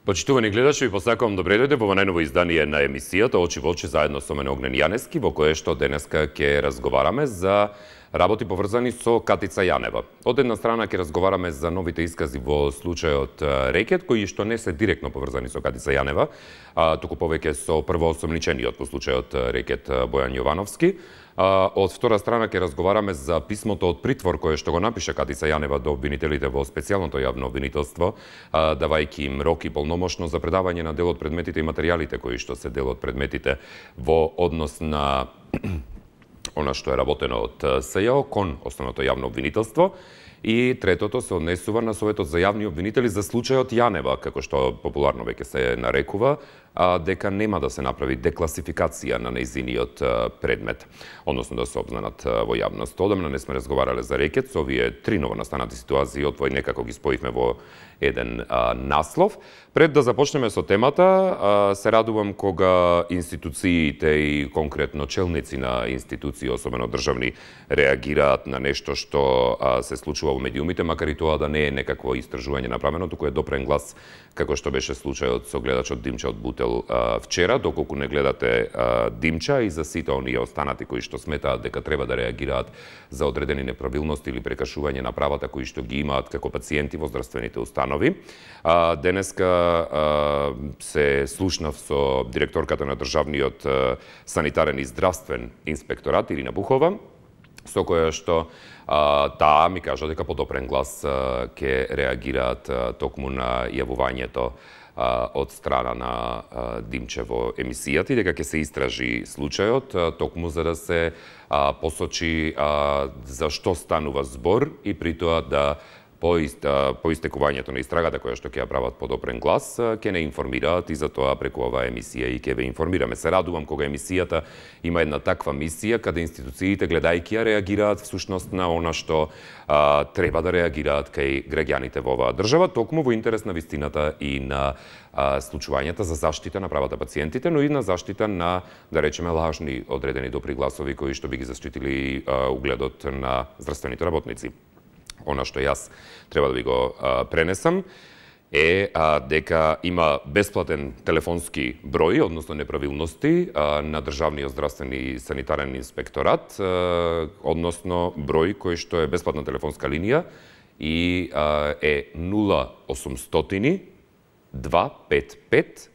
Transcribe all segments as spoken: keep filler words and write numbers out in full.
Почитувани гледачи, ви посакувам добре дојде во најново издание на емисијата Очи во очи заедно со мене Огнен Јанески, во кое што денеска ќе разговараме за работи поврзани со Катица Јанева. Од една страна ќе разговараме за новите искази во случајот Рекет, кои што не се директно поврзани со Катица Јанева, а туку повеќе со првоосомничениот по случајот Рекет Бојан Јовановски. Од втора страна ќе разговараме за писмото од притвор кое што го напише Катица Јанева до обвинителите во специјалното јавно обвинителство, давајќи им рок и полномошно за предавање на дел од предметите и материјалите кои што се дел од предметите во однос на она што е работено од СЈО кон основното јавно обвинителство. И третото се однесува на Советот за јавни обвинители за случајот Јанева, како што популарно веќе се нарекува, а дека нема да се направи декласификација на нејзиниот предмет, односно да се обзнанат во јавност. Одамна не сме разговарале за Рекет, со овие три новонастанати ситуации, отвој некако ги споивме во еден а, наслов. Пред да започнеме со темата, а, се радувам кога институциите и конкретно челници на институции, особено државни, реагираат на нешто што а, се случува во медиумите, макар и тоа да не е некакво истражување направено, туку е допрен глас, како што беше случајот со гледачот Димча од Бутел а, вчера, доколку не гледате а, Димча и за сите оние останати кои што сметаат дека треба да реагираат за одредени неправилности или прекашување на правата кои што ги имаат како пациенти во здравствените установи. А, денеска а, се слушнав со директорката на државниот а, санитарен и здравствен инспекторат Ирина Бухова, со која што а, таа ми кажа дека по допрен глас а, ке реагираат а, токму на јавувањето а, од страна на а, Димче во емисијата и дека ќе се истражи случајот, а, токму за да се а, посочи а, за што станува збор и при тоа да по, ист, по истекувањето на истрагата која што ќе ја прават по допрен глас, ќе не информираат и за тоа преку оваа емисија и ќе ве информираме. Се радувам кога емисијата има една таква мисија, каде институциите гледајќи ја реагираат всушност на она што а, треба да реагираат кај граѓаните во оваа држава, токму во интерес на вистината и на а, случувањата за заштита на правата пациентите, но и на заштита на, да речеме, лажни одредени допри гласови кои што би ги заштитили а, угледот на здравствените работници. Она што јас треба да ви го а, пренесам е а, дека има бесплатен телефонски број, односно неправилности а, на Државниот здравствен и санитарен инспекторат, а, односно број кој што е бесплатна телефонска линија и а, е нула осумстотини два пет пет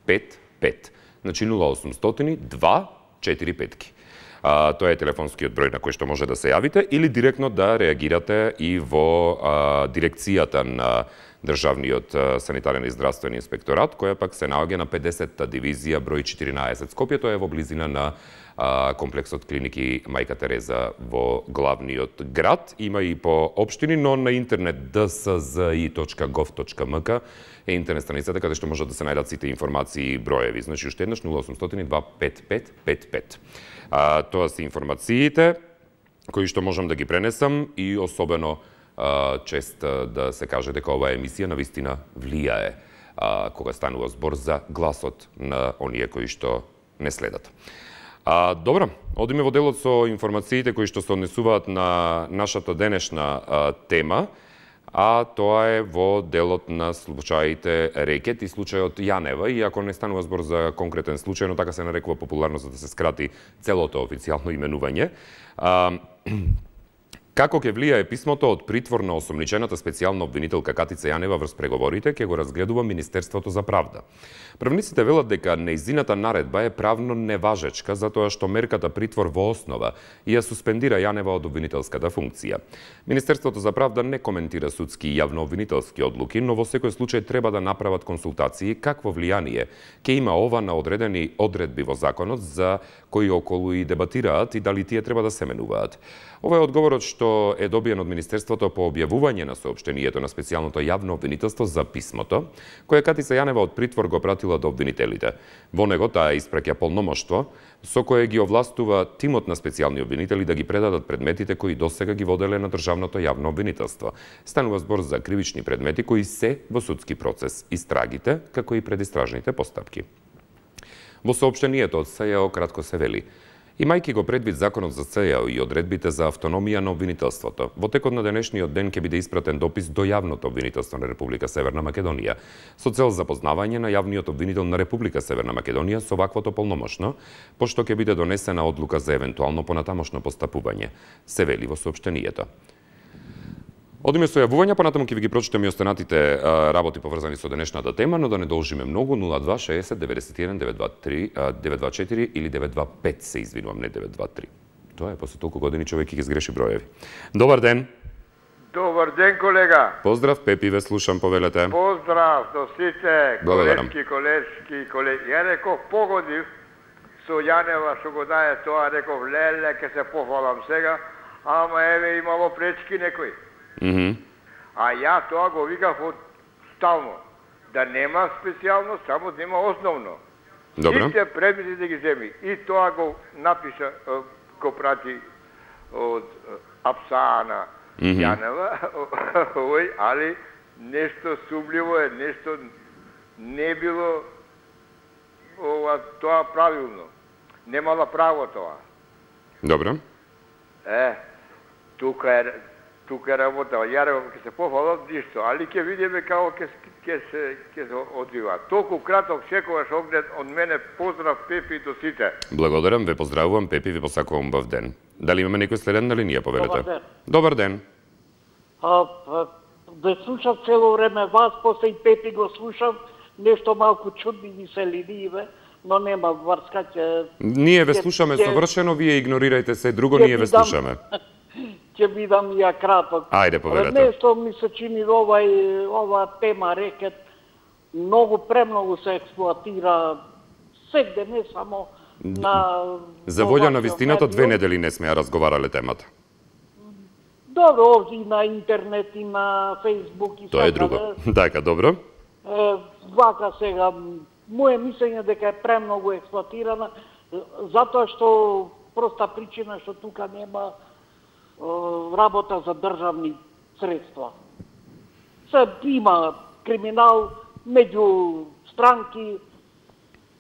пет пет. Значи нула осумстотини два четири пет. А, тоа е телефонскиот број на кој што може да се јавите или директно да реагирате и во а, дирекцијата на Државниот санитарен и здравствен инспекторат, која пак се наоѓа на педесетта дивизија број четиринаесет. Скопје, тоа е во близина на а, комплексот клиники Мајка Тереза во главниот град. Има и по општини, но на интернет д с з и точка гов точка м к е интернет страницата каде што можат да се најдат сите информации и броеви. Значи, уште еднаш нула осумстотини два пет пет пет пет. А, тоа се информациите кои што можам да ги пренесам и особено а, чест да се каже дека оваа емисија навистина влијае а, кога станува збор за гласот на оние кои што не следат. А, добро, одиме во делот со информациите кои што се однесуваат на нашата денешна а, тема, а тоа е во делот на случаите Рекет и случајот Јанева, иако не станува збор за конкретен случај, но така се нарекува популарно за да се скрати целото официјално именување. А, Како ќе влијае писмото од притвор на осомничената специјална обвинителка Катица Јанева врз преговорите, ќе го разгледува Министерството за правда. Правниците велат дека нејзината наредба е правно неважечка затоа што мерката притвор во основа ја суспендира Јанева од обвинителската функција. Министерството за правда не коментира судски и јавно-обвинителски одлуки, но во секој случај треба да направат консултации какво влијание ќе има ова на одредени одредби во законот за кои околу и дебатираат и дали тие треба да се менуваат. Ова е одговорот што е добиен од Министерството по објавување на соопштението на специјалното јавно обвинителство за писмото, кое Катица Јанева од притвор го пратила до обвинителите. Во него таа испраќа полномоштво со кое ги овластува тимот на специјални обвинители да ги предадат предметите кои досега ги воделе на државното јавно обвинителство. Станува збор за кривични предмети кои се во судски процес, истрагите, како и предистражните постапки. Во соопштението од СЈО кратко се вели: Имајќи го предвид законот за Ц Е О и одредбите за автономија на обвинителството, во текот на денешниот ден ќе биде испратен допис до јавното обвинителство на Република Северна Македонија со цел запознавање на јавниот обвинител на Република Северна Македонија со ваквото полномошно, пошто ќе биде донесена одлука за евентуално понатамошно постапување, се вели во соопштенијето. Одиме со јавувања, понатаму ќе ви ги прочитам и останатите работи поврзани со денешната тема, но да не должиме многу. нула два шеесет деветдесет и еден деветдесет и четири или деветдесет и пет, се извинувам, не деветдесет и три. Тоа е, после толку години човек ќе ги сгреши броеви. Добар ден. Добар ден, колега. Поздрав, Пепи, ве слушам, повелете. Поздрав до сите колешки, колешки, колешки. Ја реков, погодив со Јанева што го дае тоа, реков, леле, ке се пофалам сега, ама еве имало пречки некои. Mm -hmm. А ја тоа го викав од стално. Да нема специјално, само да има основно. Добро. Сите предмети да ги земи. И тоа го напиша, го прати од Апсана mm -hmm. Јанева, ој, али нешто сумливо е, нешто не било ова, тоа правилно. Немала право тоа. Добро. Е, тука е тука е работа. Ја реков ќе се пофалам ништо, али ќе видиме како ќе ќе се ќе се одвива. Толку краток секогаш огнет од мене, поздрав, Пепи, до сите. Благодарам, ве поздравувам, Пепи, ви посакувам бав ден. Дали имаме некој следен на линија, повелете? Добар ден. Добар ден. А, да слушам цело време вас, после и Пепи го слушам, нешто малку чудни ми се линије, но нема врска ќе... Ние ве слушаме ќе, совршено, вие игнорирајте се друго, ние ве слушаме. Ќе бидам ја краток. Ајде, повелете. Нешто ми се чини овај, ова тема рекет, многу премногу се експлоатира сегде, не само на... За волја на вистината, две недели не сме ја разговарале темата. Добро, овде и на интернет, и на Фейсбук, и тоа е друго. Така, добро. Е, вака сега, моје мислење дека е премногу експлоатирана, затоа што проста причина што тука нема работа за државни средства. Се има криминал меѓу странки,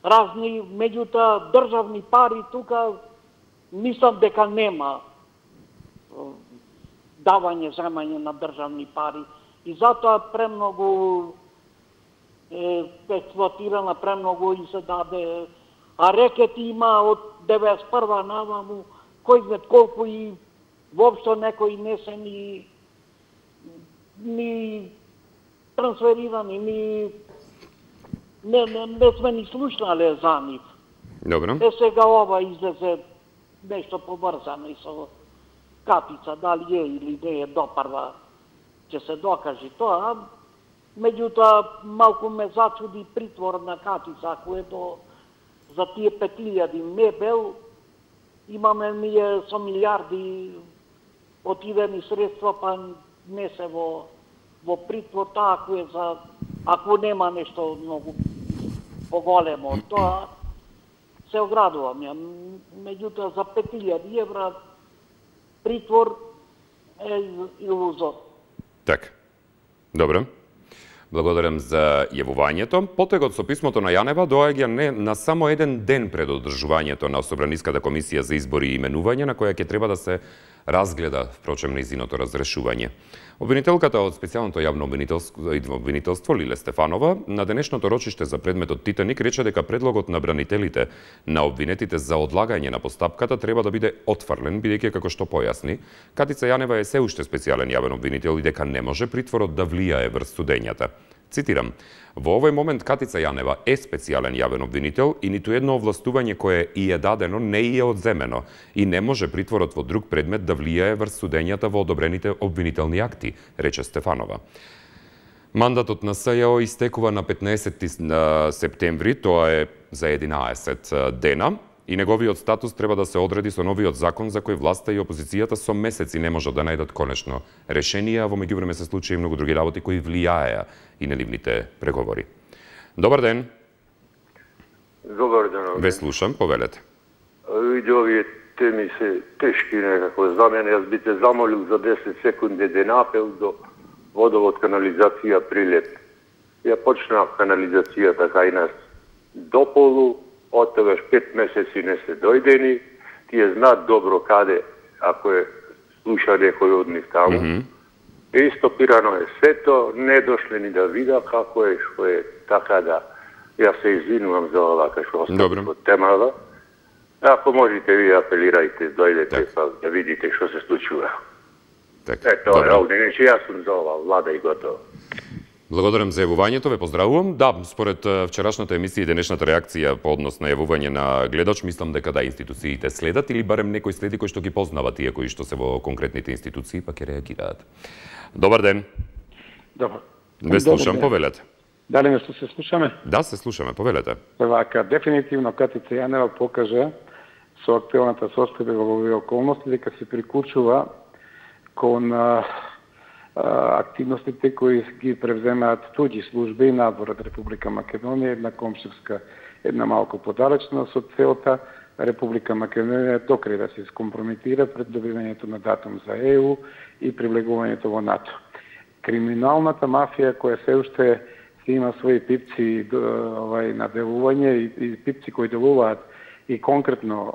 разни, меѓутоа државни пари тука мислам дека нема давање, земање на државни пари. И затоа премногу е експлоатирана, премногу и се даде. А рекети има од деветдесет и прва наваму, кој знае колку и воопшто некои не се ни, ни трансферирани, ни не, не, не сме ни слушнале за нив. Добро. Е сега ова излезе нешто поврзано и со Катица, дали е или не е допрва, ќе се докажи тоа. Меѓутоа, малку ме зачуди притвор на Катица, ако е до за тие пет илјади мебел, имаме ние со милиарди отидени средства, па не се во, во притвор, тоа ако е за, ако нема нешто многу поголемо, тоа се оградувам ја. Меѓутоа, за пет илјади евра притвор е илузор. Така. Добро. Благодарам за јавувањето. Потегот со писмото на Јанева доаѓа не на само еден ден пред одржувањето на Собраниската комисија за избори и именување, на која ќе треба да се разгледа, впрочем, нејзиното разрешување. Обвинителката од специјалното јавно обвинителство, обвинителство Лиле Стефанова на денешното рочиште за предметот Титаник рече дека предлогот на бранителите на обвинетите за одлагање на постапката треба да биде отфрлен, бидејќи како што појасни, Катица Јанева е се уште специјален јавен обвинител и дека не може притворот да влијае врз судењата. Цитирам: "Во овој момент Катица Јанева е специјален јавен обвинител и ниту едно овластување кое и е дадено не и е одземено и не може притворот во друг предмет да влијае врз судењата во одобрените обвинителни акти", рече Стефанова. Мандатот на С Ј О истекува на петнаесети септември, тоа е за единаесет дена, и неговиот статус треба да се одреди со новиот закон за кој власта и опозицијата со месеци не можат да најдат конечно решение, а во меѓувреме се случи и многу други работи кои влијаеа и на нивните преговори. Добар ден. Добар ден. Ве слушам, повелете. Види, овие теми се тешки некако за мене. Јас би те замолил за десет секунди еден апел до водовод канализација Прилеп. Ја почна канализацијата кај нас до полу, од тогаш пет месеци не се дојдени, тие знаат добро каде, ако е слуша некој од нив таму. Mm -hmm. И стопирано е сето, не дошле ни да вида како е, што е, така да јас се извинувам за ова што остава од темава. Ако можете ви апелирајте, дојдете па да видите што се случува. Така. Ето, овде, нече јас сум за ова влада и готово. Благодарам за јавувањето, ве поздравувам. Да, според вчерашната емисија и денешната реакција по однос на јавување на гледач, мислам дека да, институциите следат или барем некој следи кој што ги познава тие кои што се во конкретните институции, па ќе реагираат. Добар ден. Добар. Ве слушам, повелете. Дали нешто се слушаме? Да, се слушаме, повелете. Вака, дефинитивно Катица Јанева покажа со актуелната состојба во овие околности дека се прикучува кон а, активностите кои ги превземаат туѓи служби надвор од Република Македонија, една комшевска, една малку подалечна, со целта Република Македонија докрај да се скомпрометира пред добивањето на датум за Е У и привлегувањето во НАТО. Криминалната мафија која се уште си има своји пипци овај на делување и, и пипци кои делуваат и конкретно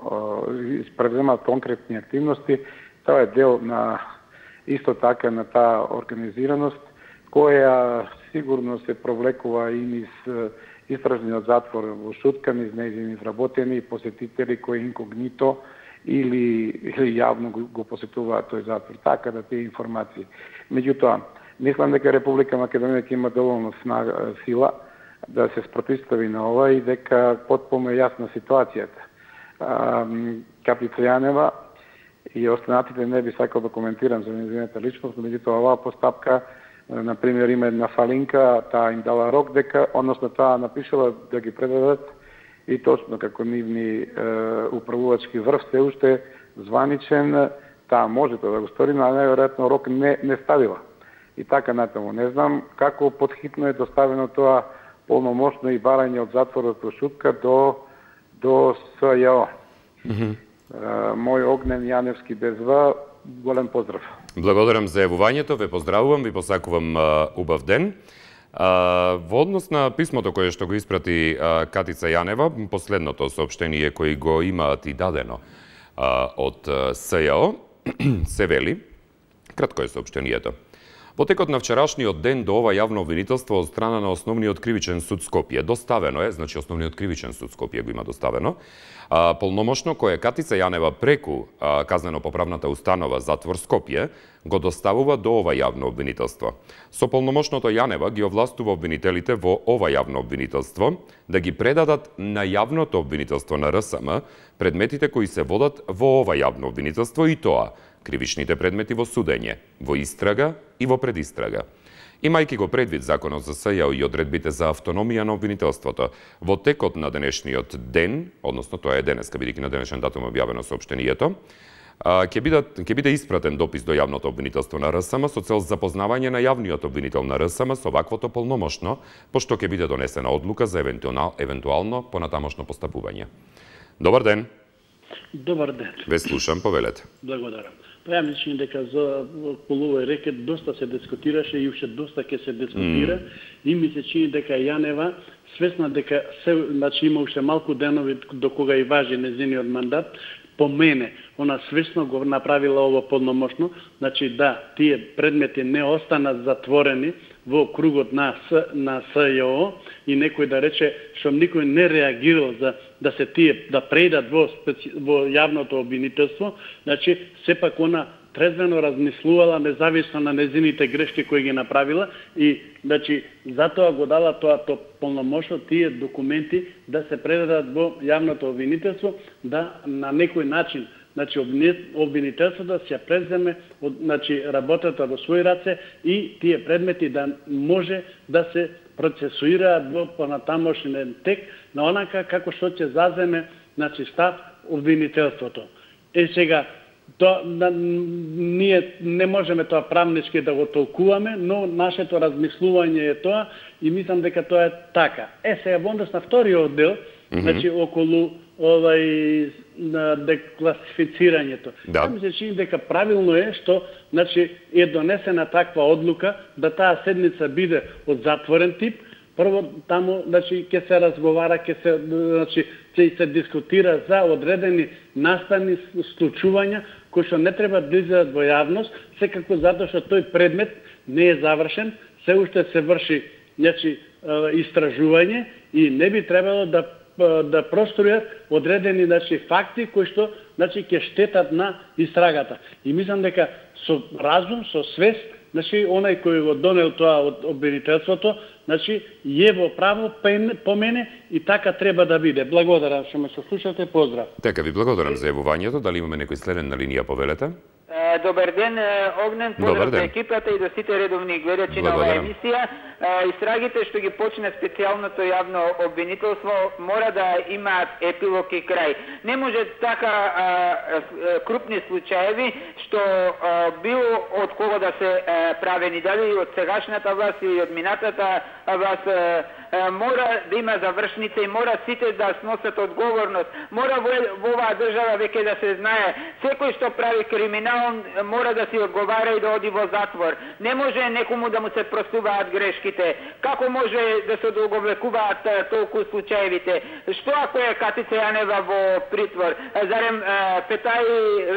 превземаат конкретни активности, тоа е дел на исто така на таа организираност, која сигурно се провлекува и низ истражниот затвор во Шутка, низ нејзини вработени посетители кои инкогнито или, или јавно го, го посетуваат тој затвор. Така да тие информации. Меѓутоа, мислам дека Република Македонија ќе има доволно снага, сила да се спротистави на ова и дека потполно е јасна ситуацијата. Катица Јанева и останатите не би сакал да коментирам за нејзината личност, меѓутоа оваа постапка, например, има една фалинка, таа им дала рок дека, односно таа напишала да ги предадат и точно како нивни е, управувачки врв се уште званичен, таа може тоа да го стори, но најверојатно рок не, не ставила. И така натаму. Не знам како подхитно е доставено тоа полномошно и барање од затворот во Шутка до, до С Ј О. Mm -hmm. Мој Огнен Јаневски без В, голем поздрав. Благодарам за јавувањето, ве поздравувам, ви посакувам uh, убав ден. Uh, во однос на писмото кое што го испрати uh, Катица Јанева, последното соопштение кој го имаат и дадено uh, од uh, С Ј О, се вели, кратко е соопштението. Во текот на вчерашниот ден до ова јавно обвинителство од страна на Основниот кривичен суд Скопје доставено е, значи Основниот кривичен суд Скопје го има доставено, а, полномошно кое Катица Јанева преку а, казнено-поправната установа Затвор Скопје го доставува до ова јавно обвинителство. Со полномошното Јанева ги овластува обвинителите во ова јавно обвинителство да ги предадат на јавното обвинителство на Р С М предметите кои се водат во ова јавно обвинителство и тоа кривичните предмети во судење, во истрага и во предистрага. Имајќи го предвид Законот за С Ј О и одредбите за автономија на обвинителството, во текот на денешниот ден, односно тоа е денеска, бидејќи на денешен датум објавено соопштението, ќе биде, ќе биде испратен допис до јавното обвинителство на Р С М со цел запознавање на јавниот обвинител на Р С М со ваквото полномошно, пошто ќе биде донесена одлука за евентуално, евентуално понатамошно постапување. Добар ден. Добар ден. Ве слушам, повелете. Благодарам. Па ја мислам дека за половој рекет доста се дискутираше и уште доста ќе се дискутира mm. и ми се чини дека Јанева свесна дека се, значи има уште малку денови до кога и важи нејзиниот мандат, по мене, она свесно го направила ово полномошно, значи да, тие предмети не останат затворени во кругот на С, на С Ј О и некој да рече што никој не реагирал за да се тие да преидат во специ, во јавното обвинителство, значи сепак она трезвено размислувала независно на незините грешки кои ги направила и значи затоа го дала тоа то полномошно тие документи да се предадат во јавното обвинителство, да на некој начин значи обвинителството да се преземе од значи работата во своји раце и тие предмети да може да се процесуираат во понатамошен тек на онака како што ќе заземе значи став обвинителството. Е сега то на, ние не можеме тоа правнички да го толкуваме, но нашето размислување е тоа и мислам дека тоа е така. Е сега во однос на вториот дел, mm -hmm. значи околу овај на декласифицирањето. Да. Ми се чини дека правилно е што значи е донесена таква одлука да таа седница биде од затворен тип, Прво таму, значи, ќе се разговара, ќе се, значи, ќе се дискутира за одредени наставни случувања кои што не треба да излезат во јавност, секако затоа што тој предмет не е завршен, се уште се врши, значи, истражување и не би требало да да простројат одредени, значи, факти кои што, значи, ќе штетат на истрагата. И мислам дека со разум, со свест, значи, онај кој го донел тоа од обвинителството, значи, е во право по мене и така треба да биде. Благодарам што ме слушате, поздрав. Така, ви благодарам за јавувањето. Дали имаме некој следен на линија, повелете? Добар ден, Огнен, поздрав за екипата и до сите редовни гледачи на оваа емисија. Истрагите што ги почне специјалното јавно обвинителство мора да имаат епилог и крај. Не може така а, а, крупни случаеви што а, било од кого да се а, правени, дали од сегашната власт или од минатата власт, а, а, мора да има завршница и мора сите да сносат одговорност. Мора во, во оваа држава веќе да се знае, секој што прави криминал мора да си одговара и да оди во затвор. Не може некому да му се простуваат грешките. Како може да се одолговекуваат толку случаевите? Што ако е Катица Јанева во притвор? Зарем Петај,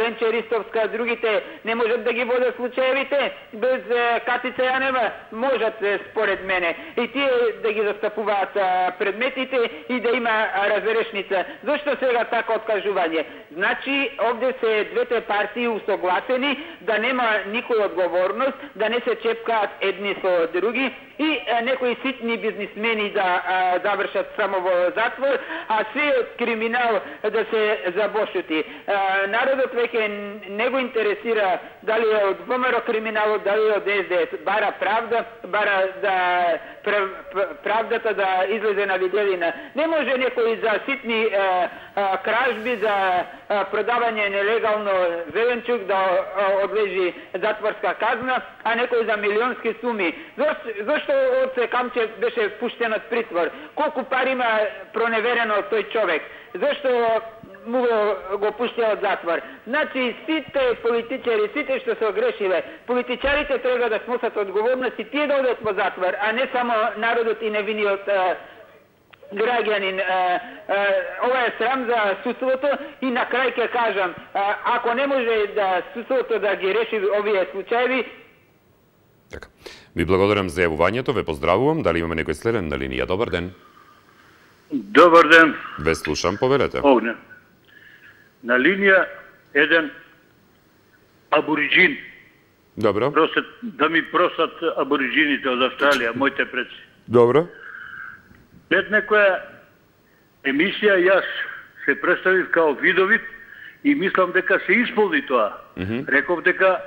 Ленче Ристовска, другите не можат да ги водат случаевите? Без Катица Јанева можат, според мене. И тие да ги застапуваат предметите и да има разрешница. Зошто сега така откажување? Значи, овде се двете партии усогласени да нема никој одговорност, да не се чепкаат едни со други и а, некои ситни бизнисмени да а, завршат само во затвор, а се од криминал да се забошути. А, народот веќе не го интересира дали е од ВМРО криминалот, дали е од Ес Де Ес. Бара правда, бара да правдата да излезе на виделина. Не може некој за ситни а, а, кражби, за а, продавање нелегално зеленчук да а, одлежи затворска казна, а некој за милионски суми. Зошто, зошто Оце Камчев беше пуштен од притвор? Колку пари има проневерено од тој човек? Зошто му го, го пуштија од затвор? Значи, сите политичари, сите што се огрешиле, политичарите треба да сносат одговорност и тие да одат во затвор, а не само народот и невиниот а, граѓанин. А, а, ова е срам за судството и на крај ќе кажам, а, ако не може да судството да ги реши овие случаеви. Така. Ви благодарам за јавувањето, ве поздравувам. Дали имаме некој следен на линија? Добар ден. Добар ден. Ве слушам, повелете. Огнен. На линија еден абориджин. Добро. Просят, да ми просат абориджините од Австралија, моите предци. Добро. Пред некоја емисија јас се представив као видовит и мислам дека се исполни тоа. Mm -hmm. Реков дека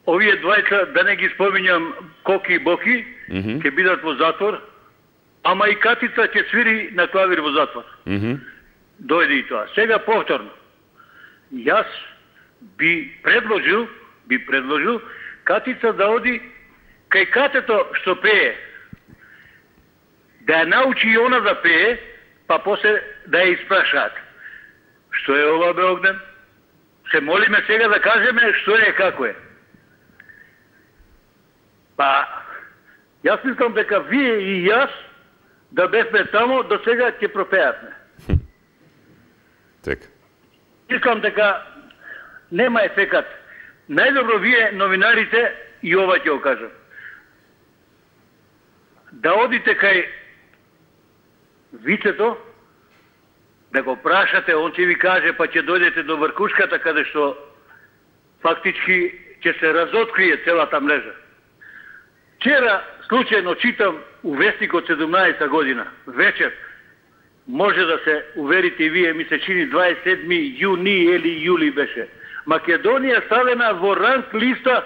овие двајца, да не ги споминјам Коки и Боки, mm -hmm. ќе бидат во затвор, ама и Катица ќе свири на клавир во затвор. Mm -hmm. Дојде и тоа. Сега повторно. Јас би предложил, би предложил Катица да оди кај катето што пее. Да ја научи и она да пее, па после да ја испрашаат. Што е ова, бе, Огнен? Се молиме сега да кажеме што е како е. Па, јас мислам дека вие и јас да бевме тамо, до сега ќе пропеатме. Така. Мислам дека нема ефекат. Најдобро вие, новинарите, и ова ќе го кажам. Да одите кај вицето, да го прашате, он ќе ви каже, па ќе дојдете до вркушката, каде што фактички ќе се разоткрие целата мрежа. Вчера случајно читам у Вестникот седумнаесета година, вечер, може да се уверите и вие, ми се чини дваесет и седми јуни или јули беше. Македонија ставена во ранг листа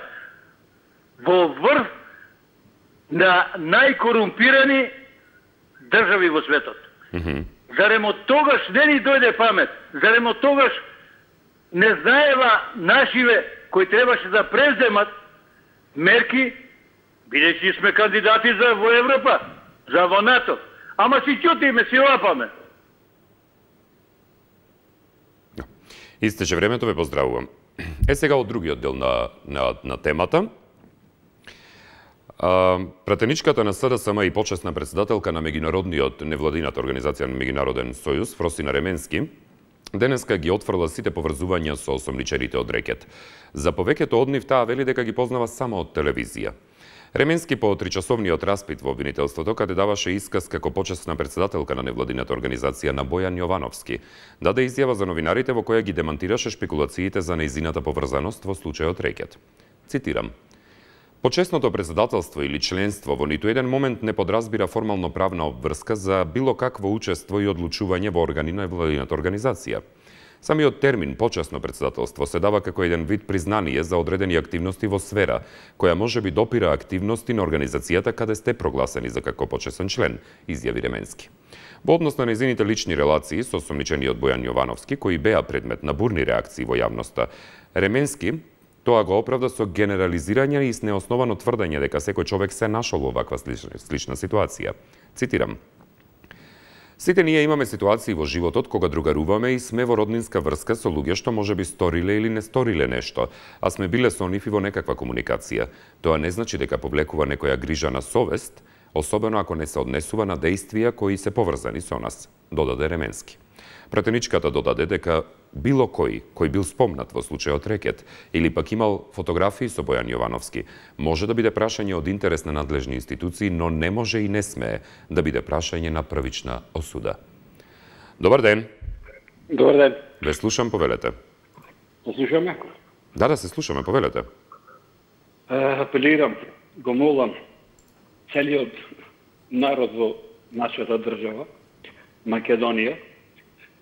во врв на најкорумпирани држави во светот. Mm-hmm. Зарем од тогаш не ни дојде памет? Зарем од тогаш не знаева нашиве кои требаше да преземат мерки, бидејќи сме кандидати за во Европа, за во НАТО. Ама си ќутиме, си лапаме. Истече времето, ве поздравувам. Е сега од другиот дел на, на, на темата. Пратеничката на СДСМ и почесна председателка на меѓународниот невладината организација на Меѓународен сојуз, Фросина Ременски, денеска ги отфрла сите поврзувања со осомничените од рекет. За повеќето од нив таа вели дека ги познава само од телевизија. Ременски по тричасовниот распит во обвинителството, каде даваше исказ како почесна председателка на невладината организација на Бојан Јовановски, даде изјава за новинарите во која ги демантираше шпекулациите за нејзината поврзаност во случајот рекет. Цитирам: "Почесното председателство или членство во ниту еден момент не подразбира формално правна обврска за било какво учество и одлучување во органи на невладината организација. Самиот термин почесно председателство се дава како еден вид признание за одредени активности во сфера, која може би допира активности на организацијата каде сте прогласени за како почесен член", изјави Ременски. Во однос на нејзините лични релации со осомничениот Бојан Јовановски, кои беа предмет на бурни реакции во јавноста, Ременски тоа го оправда со генерализирање и с неосновано тврдење дека секој човек се нашол во ваква слична, слична ситуација. Цитирам: "Сите ние имаме ситуации во животот кога другаруваме и сме во роднинска врска со луѓе што можеби сториле или не сториле нешто, а сме биле со нив и во некаква комуникација. Тоа не значи дека повлекува некоја грижа на совест, особено ако не се однесува на дејствија кои се поврзани со нас", додаде Ременски. Пратеничката додаде дека било кој кој бил спомнат во случајот рекет или пак имал фотографии со Бојан Јовановски може да биде прашање од интерес на надлежни институции, но не може и не смее да биде прашање на првична осуда. Добар ден. Добар ден. Ве слушам, повелете. Се слушаме? Да, да, се слушаме, повелете. Апелирам, го молам целиот народ во нашата држава, Македонија,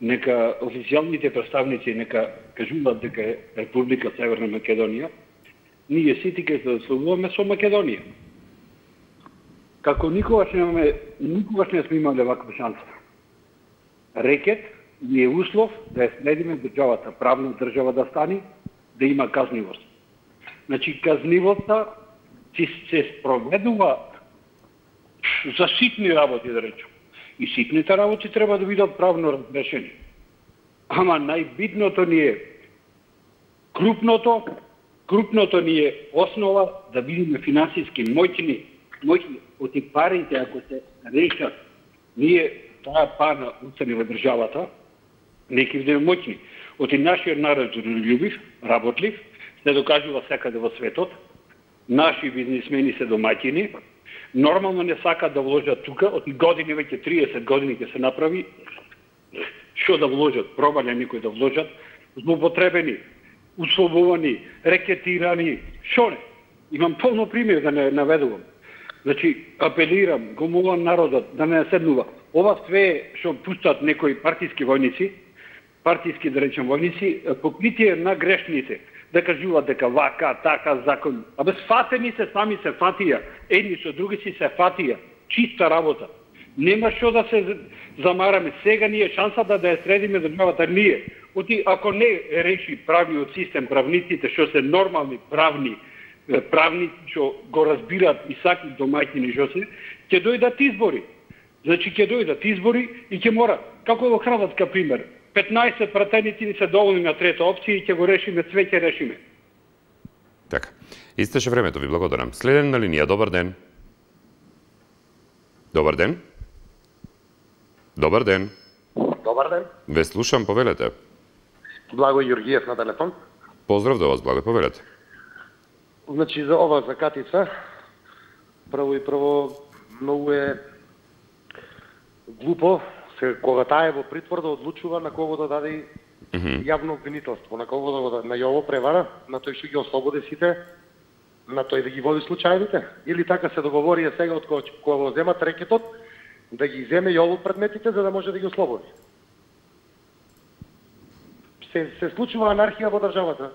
нека официјалните представници нека кажуваат дека е Република Северна Македонија, ние сите ќе се сословуваме со Македонија. Како никогаш немаме, никогаш не сме имале ваква шанса. Рекет ни е услов да ја следиме државата, правна држава да стани, да има казнивост. Значи, казнивоста се спроведува за ситни работи, да речем. И ситните работи треба да бидат правно разрешени. Ама најбитното ни е крупното, крупното ни е основа да бидеме финансиски моќни, моќни од и парите ако се решат, ние таа пара уцени во државата, не ќе бидеме моќни. Од и нашиот народ трудолюбив, работлив, се докажува секаде во светот, наши бизнисмени се домаќини, нормално не сакаат да вложат тука, од години, веќе триесет години ќе се направи, што да вложат, пробале некој да вложат, злоупотребени, условувани, рекетирани, шо не? Имам полно пример да не наведувам. Значи, апелирам, го молам народот да не седнува. Ова све што пуштат некои партиски војници, партиски, да речем, војници, покритие на грешните, да кажуваат дека вака, така, закон. Абе, сфатени се, сами се фатија. Едни со други си се фатија. Чиста работа. Нема што да се замараме. Сега ние шансата да ја средиме државата ние. Оти, ако не реши правниот систем, правниците, што се нормални правни, правници што го разбираат и саки домаќини што се, ќе дојдат избори. Значи, ќе дојдат избори и ќе мора. Како е во Хрватска пример? петнаесет пратеници ни се доволни на трета опција и ќе го решиме, све ќе решиме. Така. Истеше времето, ви благодарам. Следен на линија, добар ден. Добар ден. Добар ден. Добар ден. Ве слушам, повелете. Благо Јургиев на телефон. Поздрав до вас, Благо, повелете. Значи, за ова за Катица, прво и прво, многу е глупо, се, кога таа е во притвор да одлучува на кого да даде mm -hmm. јавно обвинителство, на кого да го на Јово превара, на тој што ги ослободи сите, на тој да ги води случајите, или така се договорија сега од кога, кога го земат рекетот, да ги земе Јово предметите за да може да ги ослободи. Се, се случува анархија во државата.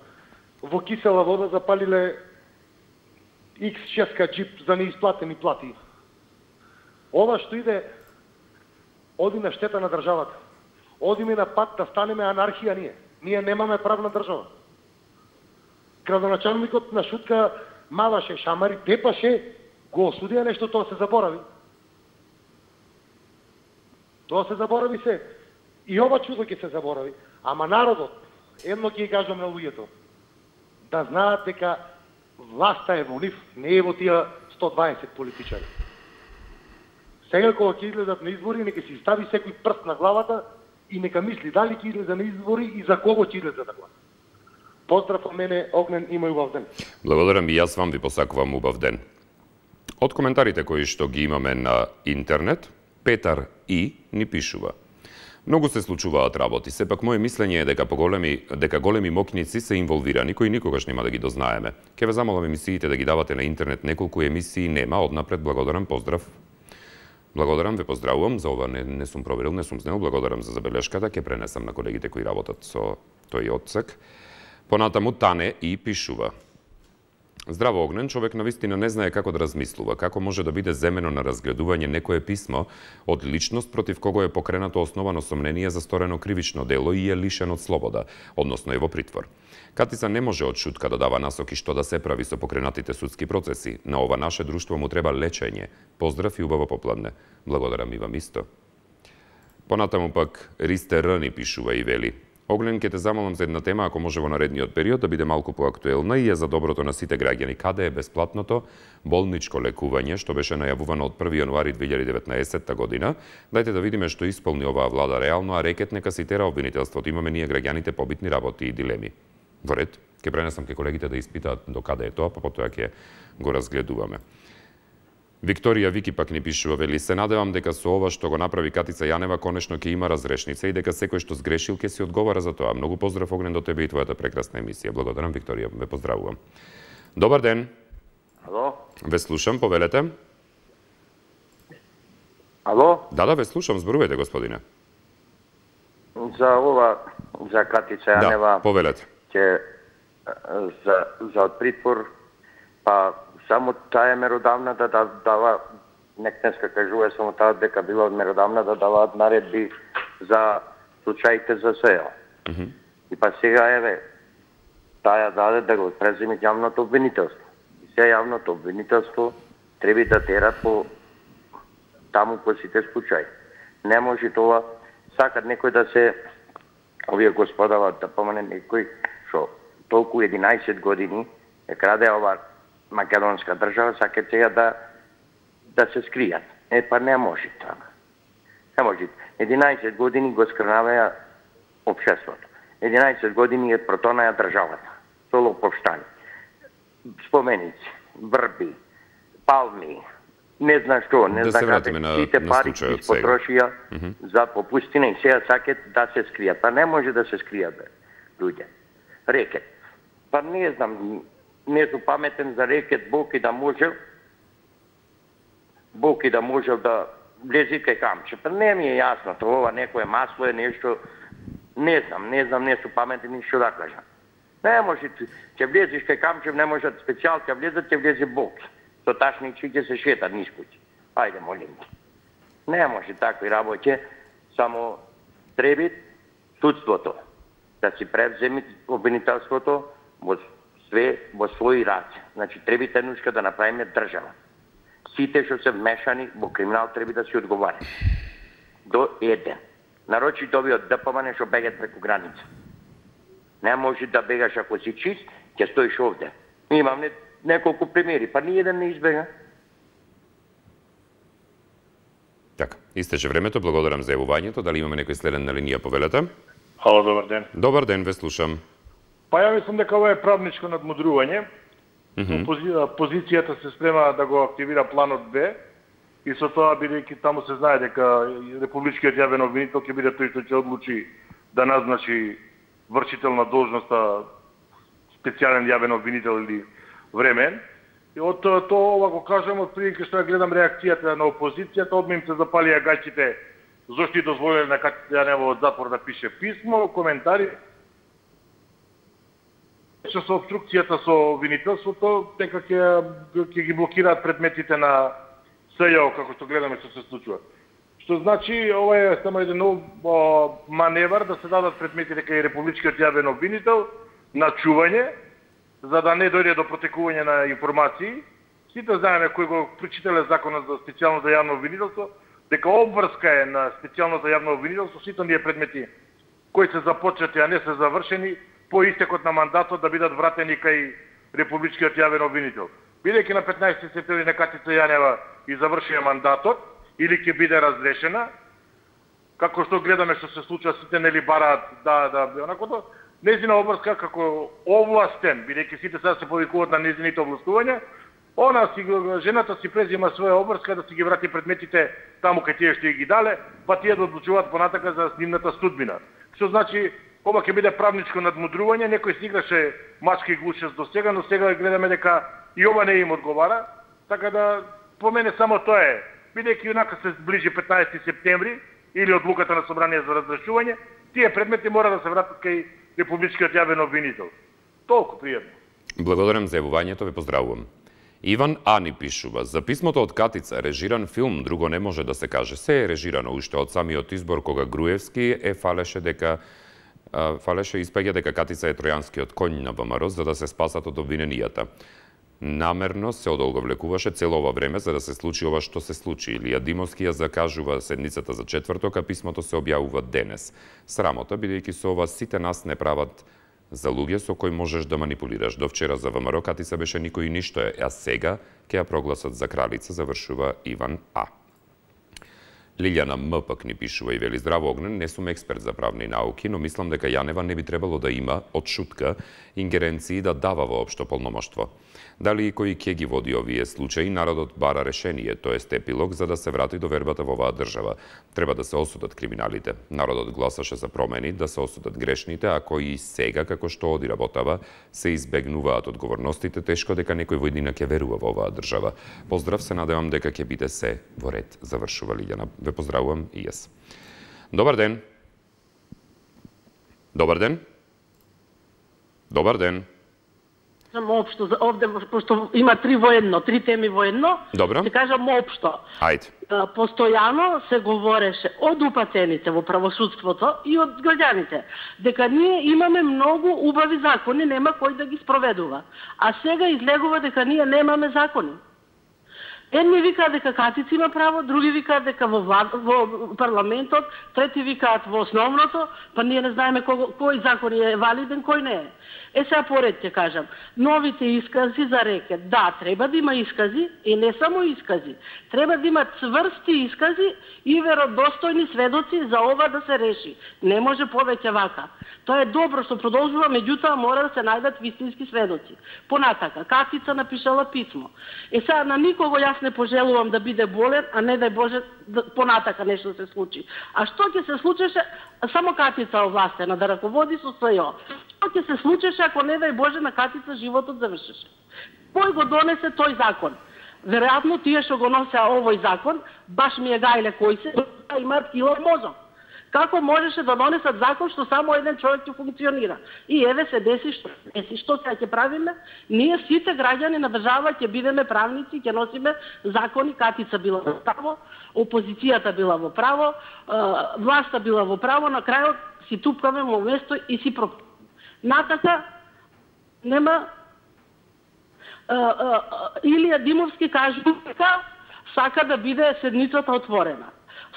Во кисела вода запалиле икс шест джип за неисплатени плати. Ова што иде оди на штета на државата. Одиме на пат да станеме анархија ние. Ние немаме правна држава. Градоначалникот на шутка маваше, шамари, тепаше, го осудија нешто, тоа се заборави. Тоа се заборави се. И ова чудо ќе се заборави. Ама народот, едно ќе ги кажам на луѓето, да знаат дека власта е во нив, не е во тие сто дваесет политичари. Сега кога ќе излезат на избори, нека си стави секој прст на главата и нека мисли дали ќе излезе на избори и за кого ќе излезе да гласа. Поздрав од мене, Огнен, има убав ден. Благодарам и јас вам ви посакувам убав ден. Од коментарите кои што ги имаме на интернет, Петар И ни пишува: многу се случуваат работи, сепак моје мислење е дека поголеми дека големи мокници се инволвирани кои никогаш нема да ги дознаеме. Ке ве замолам емисиите да ги давате на интернет, неколку емисии нема, однапред благодарам, поздрав. Благодарам, ве поздравувам, за ова не, не сум проверил, не сум знал, благодарам за забелешката, ќе пренесам на колегите кои работат со тој одсек. Понатаму Тане И пишува: здраво, Огнен, човек навистина не знае како да размислува, како може да биде земено на разгледување некое писмо од личност против кого е покренато основано сомнение за сторено кривично дело и е лишен од слобода, односно е во притвор. Катица не може од шутка да дава насоки што да се прави со покренатите судски процеси. На ова наше друштво му треба лечење. Поздрав и убаво попладне. Благодарам и вам исто. Понатаму пак Ристе Р ни пишува и вели: Огнен, ке те замолам за една тема, ако може во наредниот период да биде малку поактуелна и е за доброто на сите граѓани. Каде е бесплатното болничко лекување што беше најавувано од први јануари две илјади и деветнаесетта година? Дајте да видиме што исполни оваа влада реално, а рекет нека си тера обвинителството. Имаме ние граѓаните побитни работи и дилеми. Во ред, ке пренесам ке колегите да испитаат до каде е тоа, па потоа ќе го разгледуваме. Викторија Вики пак ни пишува, вели: се надевам дека со ова што го направи Катица Јанева конечно ќе има разрешница и дека секој што сгрешил ќе си одговара за тоа. Многу поздрав, Огнен, до тебе и твојата прекрасна емисија. Благодарам, Викторија, ве поздравувам. Добар ден. Ало? Ве слушам, повелете. Ало? Да, да, ве слушам, зборувајте, господине. За ова, за Катица Јанева... Да, повелете. Ќе за, за притвор, па само таа е меродавна да дава, нек днеска кажува само таа дека била меродавна да даваат наредби за случаите за сеја. Mm -hmm. И па сега еве, таа даде да го преземи јавното обвинителство. И сега јавното обвинителство треба да тера по таму по сите случаи. Не може тоа, сакат некој да се, овие господава, да помане некој што толку единаесет години е краде ова македонска држава, сакат сега да да се скријат. Е, па не може така. Не може. единаесет години го скрнаваја општеството. единаесет години е протонаја државата. Со лоповштани. Споменици, врби, палми, не знам што, не да знам каде, сите пари ги потрошија mm -hmm. за попустина и сега сакат да се скријат. Па не може да се скријат, бе, луѓе. Рекет. Па не знам, не сум паметен за рекет, Бог и да можел, Бог и да можел да влези кај камче. Па не ми е јасно, тоа некое масло е нешто, не знам, не знам, не сум паметен ни што да кажам. Не може, ќе влезеш кај камче, не може специјал, ќе влезат, ќе влезе Бог. Со ташничи ќе се шетат низ куќи. Ајде, молим те. Не може такви работи, само треба судството да си превземи обвинителството во све во своји раце. Значи, треба тенушка да направиме држава. Сите што се вмешани во криминал треба да се одговарат. До еден. Нарочито овие од ДПМН што бегат преку граница. Не може да бегаш ако си чист, ќе стоиш овде. Имам не, неколку примери, па ни еден не избега. Така, истече времето, благодарам за јавувањето. Дали имаме некој следен на линија, повелете? Ало, добар ден. Добар ден, ве слушам. Па ја мислам дека ова е правничко надмудрување. Mm -hmm. Пози... Позицијата се спрема да го активира планот Б и со тоа, бидејќи таму се знае дека републичкиот јавен обвинител ќе биде тој што ќе одлучи да назначи вршител на должноста специјален јавен обвинител или времен. И од тоа ова го кажам, од прилика што ја гледам реакцијата на опозицијата, одма им се запалија гаќите зошто и дозволиле на Катица Јанева од затвор да пише писмо, коментари. Што со обструкцијата со обвинителството, дека ќе ќе ги блокираат предметите на СЈО, како што гледаме што се случува. Што значи, ова е само еден нов маневар да се дадат предметите кај републичкиот јавен обвинител на чување, за да не дојде до протекување на информации. Сите знаеме кој го прочитале законот за специјалното јавно обвинителство, дека обврска е на специјалното јавно обвинителство сите оние предмети кои се започнати, а не се завршени, по истекот на мандатот да бидат вратени кај републичкиот јавен обвинител. бидејќи на петнаесети септември на Катица Јанева и завршија мандатот, или ќе биде разрешена, како што гледаме што се случува, сите нели бараат да да онакото, незина обврска како овластен, бидејќи сите сега се повикуваат на незините овластувања, она си жената си презима своја обврска да си ги врати предметите таму кај тие што ги дале, па тие да одлучуваат понатака за нивната судбина. Што значи ова ќе биде правничко надмудрување, некој си играше мачка и глушест до сега, но сега гледаме дека и ова не им одговара, така да по мене само тоа е. Бидејќи онака се ближи петнаесети септември или одлуката на собрание за разрешување, тие предмети мора да се вратат кај републичкиот јавен обвинител. Толку пријатно. Благодарам за јавувањето, ве поздравувам. Иван Ани пишува: за писмото од Катица, режиран филм, друго не може да се каже. Се е режирано уште од самиот избор кога Груевски е фалеше дека фалеше испаѓа дека Катица е тројанскиот коњ на ВМРО за да се спасат од обвиненијата. Намерно се одолговлекуваше цело ова време за да се случи ова што се случи. Илија Димовски ја закажува седницата за четврток, а писмото се објавува денес. Срамота, бидејќи со ова сите нас не прават за луѓе со кои можеш да манипулираш. До вчера за ВМРО Катица беше никој и ништо е, а сега ќе ја прогласат за кралица, завршува Иван А. Лилјана М пак ни пишува и вели: здраво Огнен, не сум експерт за правни науки, но мислам дека Јанева не би требало да има од шутка ингеренции да дава воопшто полномоштво. Дали и кој ќе ги води овие случаи, народот бара решение, тоест епилог, за да се врати до вербата во оваа држава. Треба да се осудат криминалите. Народот гласаше за промени, да се осудат грешните, а кои и сега, како што оди работава, се избегнуваат одговорностите, тешко дека некој во иднина ќе верува во оваа држава. Поздрав, се надевам дека ќе биде се во ред, завршува Лилјана. Ве поздравувам и јас. Добар ден. Добар ден. Добар ден. Општо, овде, пошто има три воедно, три теми воедно, Добро. Се кажам општо. Ајде. Постојано се говореше од упатените во правосудството и од граѓаните, дека ние имаме многу убави закони, нема кој да ги спроведува. А сега излегува дека ние немаме закони. Едни викаат дека Катица има право, други викаат дека во, влад, во парламентот, трети викаат во основното, па ние не знаеме кој, кој закон е валиден, кој не е. Е, сега поред ќе кажам, новите искази за рекет, да, треба да има искази, и не само искази, треба да има цврсти искази и веродостојни сведоци за ова да се реши. Не може повеќе вака. Тоа е добро што продолжува, меѓутоа мора да се најдат вистински сведоци. Понатака, Катица напишала писмо. Е, сега на никого јас не пожелувам да биде болен, а не дај Боже да, понатака нешто се случи. А што ќе се случеше, само Катица овластена да раководи со СЈО. Што ќе се случеше ако не дај Боже на Катица животот завршеше? Кој го донесе тој закон? Веројатно тие што го носеа овој закон, баш ми е гајле кој се, имаат кило мозок. Како можеше да донесат закон што само еден човек ќе функционира? И еве се деси што деси, што сега ќе правиме? Ние сите граѓани на држава ќе бидеме правници, ќе носиме закони. Катица била во право, опозицијата била во право, власта била во право, на крајот си тупкаме во место и си пропадаме. Натака нема Илија Димовски кажува дека сака да биде седницата отворена.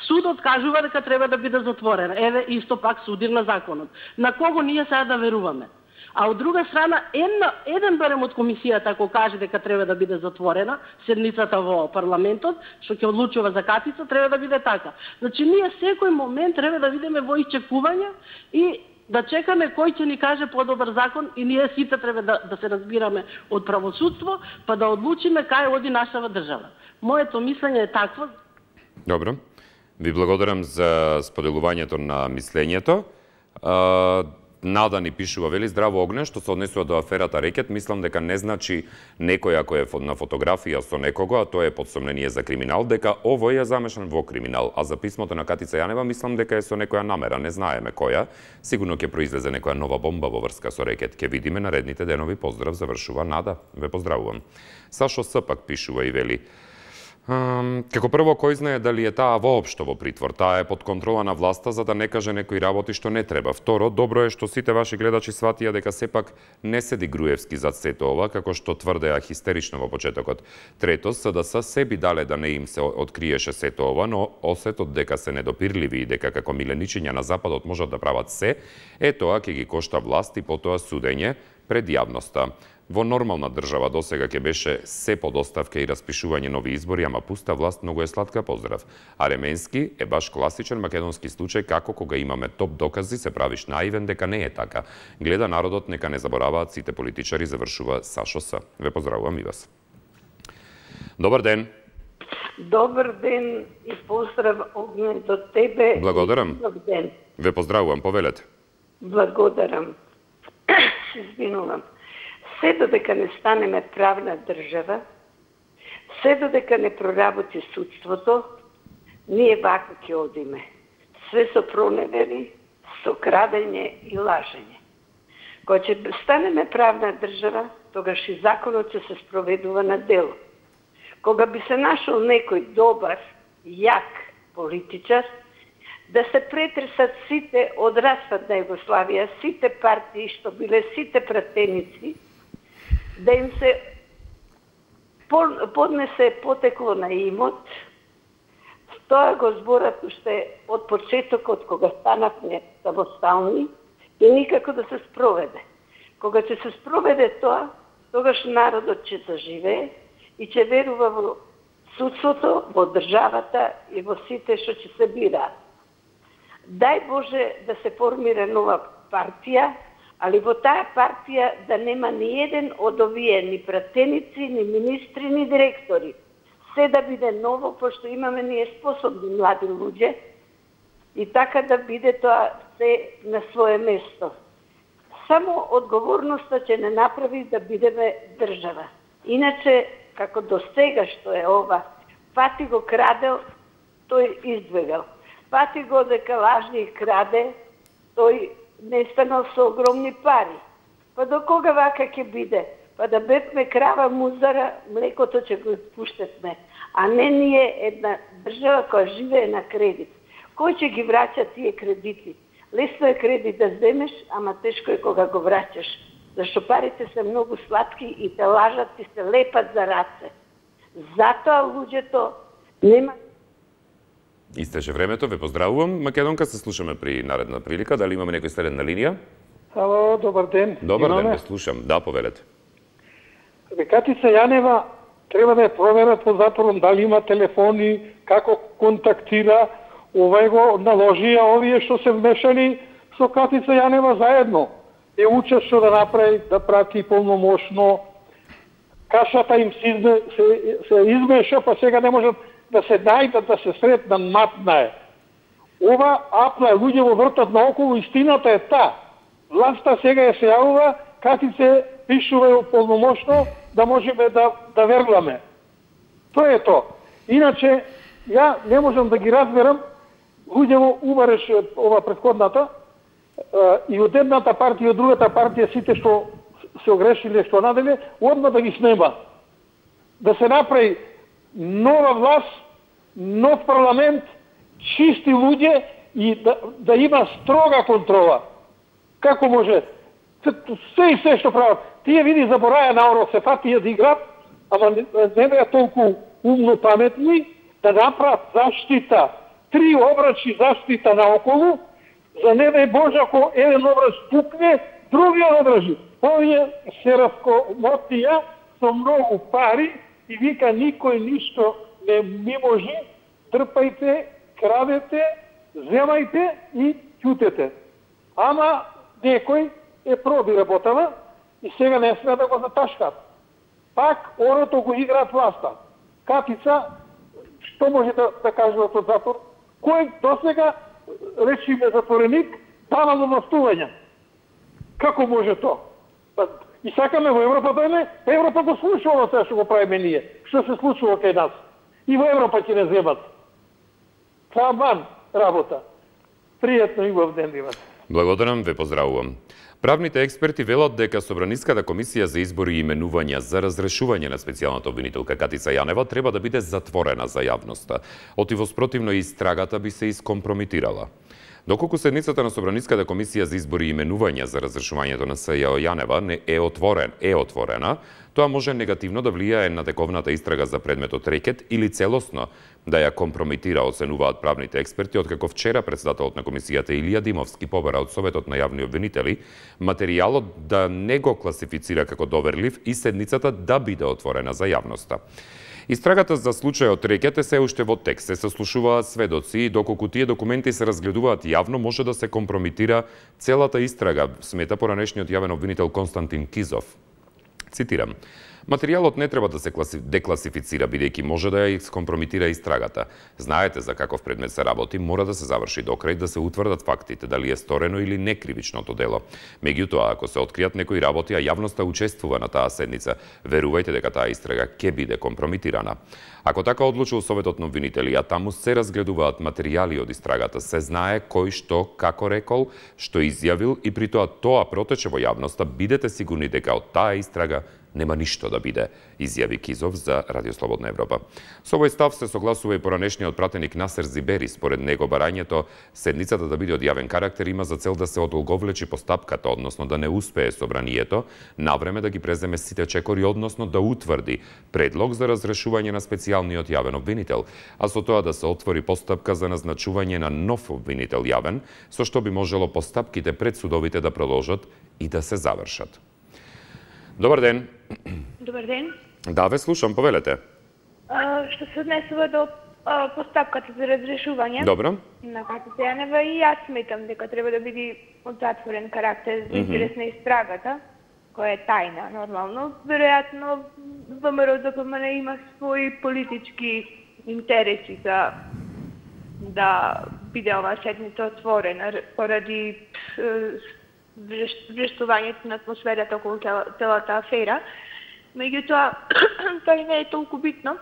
Судот кажува дека треба да биде затворена. Еве исто пак судир на законот. На кого ние сега да веруваме? А од друга страна, една, еден барем од комисијата ако каже дека треба да биде затворена седницата во парламентот, што ќе одлучува за Катица, треба да биде така. Значи ние секој момент треба да видиме во исчекување и да чекаме кој ќе ни каже подобар закон и ние сите треба да, да се разбираме од правосудство, па да одлучиме кај оди нашава држава. Моето мислење е такво. Добро. Ви благодарам за споделувањето на мислењето. Нада ни пишува, вели: здраво Огне, што се однесува до аферата рекет, мислам дека не значи некој ако е на фотографија со некого, а тоа е подсомнение за криминал, дека овој е замешан во криминал. А за писмото на Катица Јанева мислам дека е со некоја намера, не знаеме која. Сигурно ќе произлезе некоја нова бомба во врска со рекет. Ќе видиме наредните денови. Поздрав, завршува Нада. Ве поздравувам. Сашо С пак пишува и вели: Um, како прво, кој знае дали е таа воопшто во притвор? Таа е под контрола на власта за да не каже некои работи што не треба. Второ, добро е што сите ваши гледачи сватија дека сепак не седи Груевски зад сето ова, како што тврдеа хистерично во почетокот. Трето, СДС sebi дале да не им се откриеше сето ова, но осетот дека се недопирливи и дека како миленичиња на Западот можат да прават се, е тоа ќе ги кошта власт и потоа судење пред јавноста. Во нормална држава досега ќе беше се подоставка и распишување нови избори, ама пуста власт многу е сладка, поздрав. Аременски е баш класичен македонски случај како кога имаме топ докази се правиш наивен дека не е така. Гледа народот, нека не забораваат сите политичари, завршува Сашо С. Ве поздравувам и вас. Добар ден. Добар ден и поздрав Огнен до тебе. Благодарам. Добар ден. Ве поздравувам, повелете. Благодарам. Се извинувам. Се додека не станеме правна држава, се додека не проработи судството, ние вака ќе одиме. Све со проневери, со крадење и лажење. Кога ќе станеме правна држава, тогаш и законот ќе се спроведува на дело. Кога би се нашол некој добар, јак политичар, да се претресат сите од распад на Југославија, сите партии што биле сите пратеници, да им се поднесе потекло на имот, тоа го зборат уште од почетокот кога станавме самостални и никако да се спроведе. Кога ќе се спроведе тоа, тогаш народот ќе заживее и ќе верува во судството, во државата и во сите што ќе се бираат. Дај Боже да се формира нова партија, али во таа партија да нема ни еден од овие ни пратеници, ни министри, ни директори. Се да биде ново, пошто имаме ние способни млади луѓе и така да биде тоа се на свое место. Само одговорноста ќе не направи да бидеме држава. Иначе, како до сега што е ова, Пати го крадел, тој избегал. Пати го дека лажни краде, тој не станал со огромни пари. Па до кога вака ќе биде? Па да бевме крава музара, млекото ќе го пуштетме. А не ние една држава која живее на кредит. Кој ќе ги враќа тие кредити? Лесно е кредит да земеш, ама тешко е кога го враќаш. Зашто парите се многу сладки и те лажат и се лепат за раце. Затоа луѓето нема. Истече времето, ве поздравувам. Македонка, се слушаме при наредна прилика. Дали имаме некој следен на линија? Ало, добар ден. Добар ден, ве слушам. Да, повелете. Катица Јанева треба да ја проверат по затвором дали има телефони, како контактира, овај го наложија овие што се вмешали со Катица Јанева заедно. Е учат што да направи, да прати полномошно. Кашата им се, се, се измеша, па сега не можат да се најдат, да се сретнат, матна е. Ова апна е, луѓе во вртат наоколу, истината е та. Власта сега е се јавува, Катице пишува полномошно, да можеме да, да веруваме. Тоа е то. Иначе, ја не можам да ги разберам, луѓе во убареш ова предходната, и од едната партија и од другата партија, сите што се огрешиле, што наделе, одма да ги снема. Да се направи нова власт, нов парламент, чисти луѓе и да, да има строга контрола. Како може? Се и се што прават. Тие види забораја народ се фатија да играт, ама не, не беа толку умно паметни да направат заштита. Три обрачи заштита наоколу, за не дај Боже ако еден обрач пукне, другиот одржи. Овие се раскомотија со многу пари и вика никој ништо не ми може, трпајте, крадете, земајте и ќутете. Ама некој е проби работава и сега не сме да го заташкат. Пак орото го играат власта. Катица, што може да, да каже од затвор? Кој досега, речиме затвореник, давало властување? Како може то? И сакаме во Европа да не, Европа го слушува тоа што го правиме ние. Што се случува кај нас? И во Европа ќе не земат. Таман работа. Пријатно и убав ден имате. Благодарам, ве поздравувам. Правните експерти велат дека Собраниската комисија за избори и именувања за разрешување на специјалната обвинителка Катица Јанева треба да биде затворена за јавноста. Отивоспротивно истрагата би се искомпрометирала. Доколку седницата на Собраниската комисија за избори и именувања за разрешувањето на С Ј Јанева не е отворен, е отворена, тоа може негативно да влијае на тековната истрага за предметот рекет или целосно да ја компрометира, оценуваат правните експерти, откако вчера председателот на комисијата Илија Димовски побара од Советот на јавни обвинители материјалот да не го класифицира како доверлив и седницата да биде отворена за јавноста. Истрагата за случајот рекет е се уште во тек, се сослушуваат сведоци и доколку тие документи се разгледуваат јавно, може да се компрометира целата истрага, смета поранешниот јавен обвинител Константин Кизов. Цитирам: материјалот не треба да се декласифицира, бидејќи може да ја скомпрометира истрагата. Знаете за каков предмет се работи, мора да се заврши до крај, да се утврдат фактите, дали е сторено или не кривичното дело. Меѓутоа, ако се откријат некои работи, а јавноста учествува на таа седница, верувајте дека таа истрага ќе биде компрометирана. Ако така одлучил Советот на обвинители, а таму се разгледуваат материјали од истрагата, се знае кој што, како рекол, што изјавил и при тоа тоа протече во јавноста, бидете сигурни дека од таа истрага нема ништо да биде, изјави Кизов за Радио Слободна Европа. Со овој став се согласува и поранешниот пратеник Насер Зибери. Според него барањето седницата да биде од јавен карактер има за цел да се одолговлечи постапката, односно да не успее собранието навреме да ги преземе сите чекори, односно да утврди предлог за разрешување на специјалниот јавен обвинител, а со тоа да се отвори постапка за назначување на нов обвинител јавен, со што би можело постапките пред судовите да продолжат и да се завршат. Добар ден. Добар ден. Да, ве слушам, повелете. А, што се однесува до а, постапката за разрешување Добро. На Катица Јанева, и јас сметам дека треба да биде од затворен карактер за интерес на истрагата, која е тајна, нормално. Веројатно, ВМРО Д П М Н има своји политички интереси за да биде оваа седница отворена поради врештувањето на атмосферата околу целата афера. Меѓутоа, тоа не е толку битно.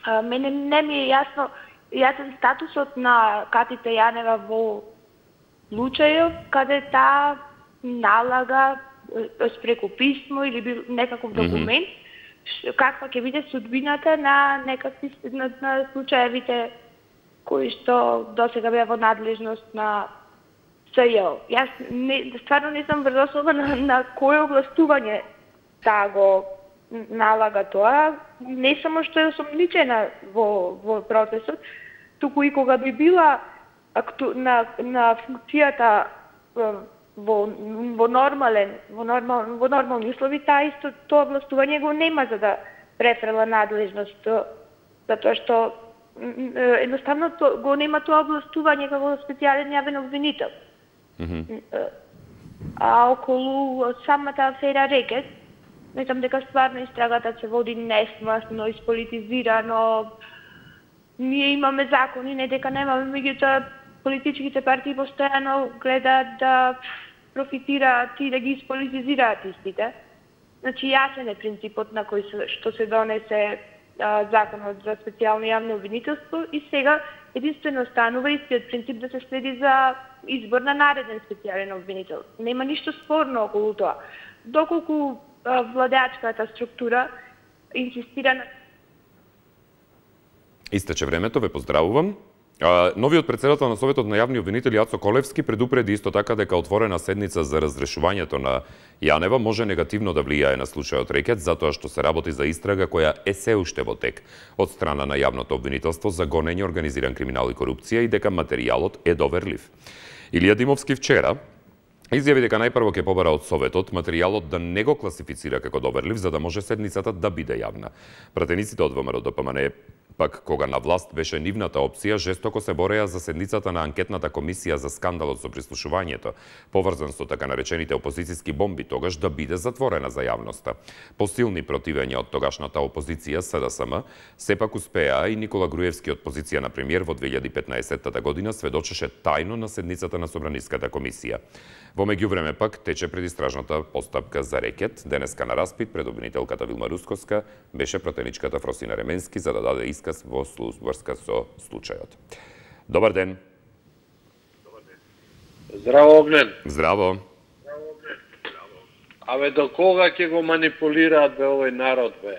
А, мене не ми е јасно јасен статусот на Катица Јанева во случајот каде таа налага преку писмо или некаков документ, mm-hmm. каква ќе биде судбината на некакви на, на случаевите кои што досега беа во надлежност на С Ј. Јас не, стварно не сум врз основа на, на кое огластување таа го налага тоа, не само што е осомничена во, во процесот, туку и кога би била акту, на, на функцијата во, во нормален, во, нормал, во нормални услови, таа исто тоа огластување го нема за да префрела надлежност, затоа што едноставно то, го нема тоа огластување како специјален јавен обвинител. Mm-hmm. А околу самата афера рекет, мислам дека стварно истрагата се води несмасно, исполитизирано. Ние имаме закони, не дека немаме, меѓутоа политичките партии постојано гледаат да профитираат и да ги исполитизираат истите. Значи јасен е принципот на кој се, што се донесе а, законот за специјално јавно обвинителство и сега единствено останува истиот принцип да се следи за избор на нареден специјален обвинител. Нема ништо спорно околу тоа. Доколку а, владеачката структура инсистира на... Истече времето, ве поздравувам. А, новиот председател на Советот на јавни обвинители Ацо Колевски предупреди исто така дека отворена седница за разрешувањето на Јанева може негативно да влијае на случајот рекет, затоа што се работи за истрага која е се уште во тек од страна на јавното обвинителство за гонење, организиран криминал и корупција и дека материјалот е доверлив. Илија Димовски вчера изјави дека најпрво ќе побара од Советот материјалот да не го класифицира како доверлив, за да може седницата да биде јавна. Пратениците од ВМРО Д П М Н пак кога на власт беше нивната опција, жестоко се бореа за седницата на анкетната комисија за скандалот со прислушувањето, поврзан со така наречените опозицијски бомби, тогаш да биде затворена за јавноста. По силни противења од тогашната опозиција С Д С М, сепак успеа и Никола Груевски од позиција на премиер во две илјади и петнаесетта година сведочеше тајно на седницата на Собраниската комисија. Во меѓувреме пак тече предистражната постапка за рекет. Денеска на распит пред обвинителката Вилма Русковска беше пратеничката Фросина Ременски за да даде исказ во врска со случајот. Добар ден. Добар ден. Здраво, Огнен. Здраво. Абе, до кога ќе го манипулираат бе овој народ, бе?